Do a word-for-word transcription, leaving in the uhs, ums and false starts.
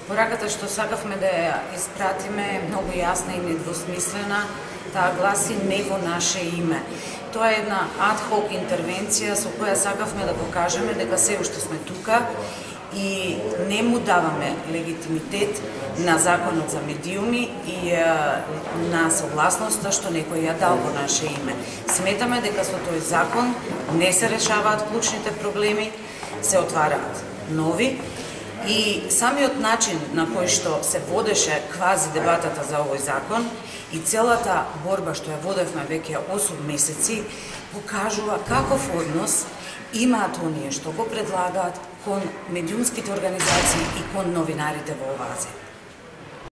Пораката што сакавме да ја испратиме е многу јасна и недвосмислена, таа гласи не во наше име. Тоа е една ад-хок интервенција со која сакавме да покажеме дека се уште сме тука и не му даваме легитимитет на законот за медиуми и на согласноста што некој ја дал во наше име. Сметаме дека со тој закон не се решаваат клучните проблеми, се отвараат нови. И самиот начин на кој што се водеше квази дебатата за овој закон и целата борба што ја водевме веќе осум месеци покажува каков однос имаат оние што го предлагаат кон медиумските организации и кон новинарите во оваа земја.